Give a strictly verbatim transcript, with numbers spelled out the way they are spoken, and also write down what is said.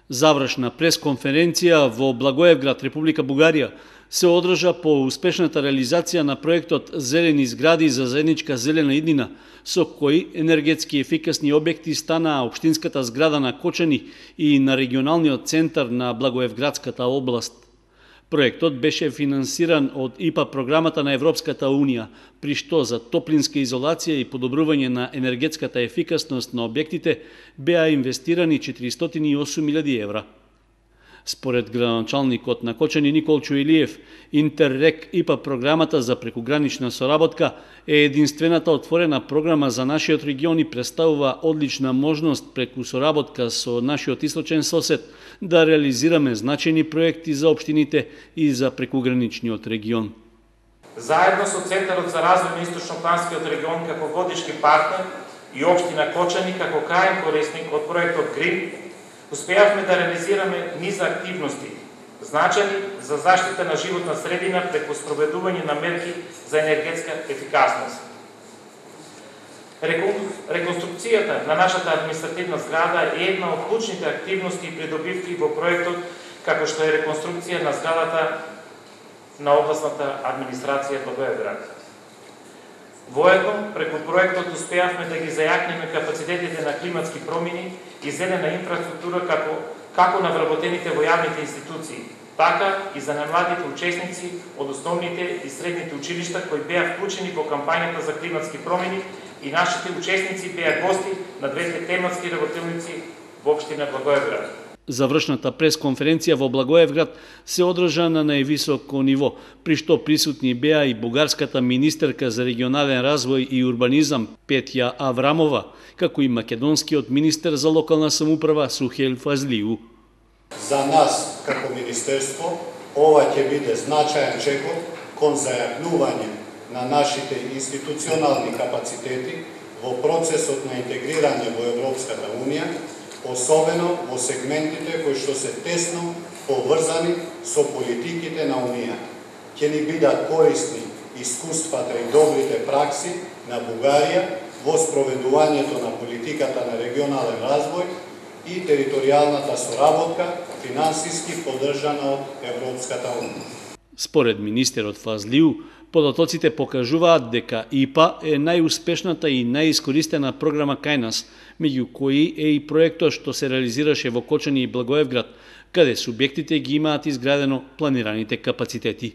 Завршна пресконференција во Благоевград, Република Бугарија, се одржа по успешната реализација на проектот Зелени згради за заедничка зелена иднина, со кои енергетски ефикасни објекти станаа општинската зграда на Кочани и на регионалниот центар на Благоевградската област. Проектот беше финансиран од И П А програмата на Европската Унија, при што за топлинска изолација и подобрување на енергетската ефикасност на објектите беа инвестирани четиристотини и осум илјади евра. Според градоначалникот на Кочани Николчо Илиев, Интеррек И П А програмата за прекугранична соработка е единствената отворена програма за нашиот регион и представува одлична можност преку соработка со нашиот источен сосед да реализираме значајни проекти за општините и за прекуграничниот регион. Заедно со Центарот за развој на Источнопланскиот регион како водички партнер и општина Кочани како крајен корисник од проектот Грин, успеавме да реализираме низа активности, значајни за заштита на животна средина преку спроведување на мерки за енергетска ефикасност. Реконструкцијата на нашата административна зграда е една од клучните активности и придобивки во проектот, како што е реконструкција на зградата на областната администрација Благоевград. Воедно, преку проектот успеавме да ги зајакнеме капацитетите на климатски промени и зелена инфраструктура како, како на вработените во јавните институции, така и за немладите учесници од основните и средните училишта кои беа вклучени во кампањата за климатски промени и нашите учесници беа гости на двете тематски работилници во општина Благоевград. Завршната пресконференција во Благоевград се одржа на највисоко ниво, при што присутни беа и бугарската министерка за регионален развој и урбанизам Петја Аврамова, како и македонскиот министер за локална самоуправа Сухел Фазлиу. За нас, како министерство, ова ќе биде значаен чекор кон зајакнување на нашите институционални капацитети во процесот на интегрирање во Европската Унија, особено во сегментите кои што се тесно поврзани со политиките на Унија. Ќе ни бидат корисни искуствата и добрите пракси на Бугарија во спроведувањето на политиката на регионален развој и територијалната соработка, финансиски поддржана од Европската Унија. Според министерот Фазлиу, податоците покажуваат дека И П А е најуспешната и најискористена програма кај нас, меѓу кои е и проектот што се реализираше во Кочани и Благоевград, каде субјектите ги имаат изградено планираните капацитети.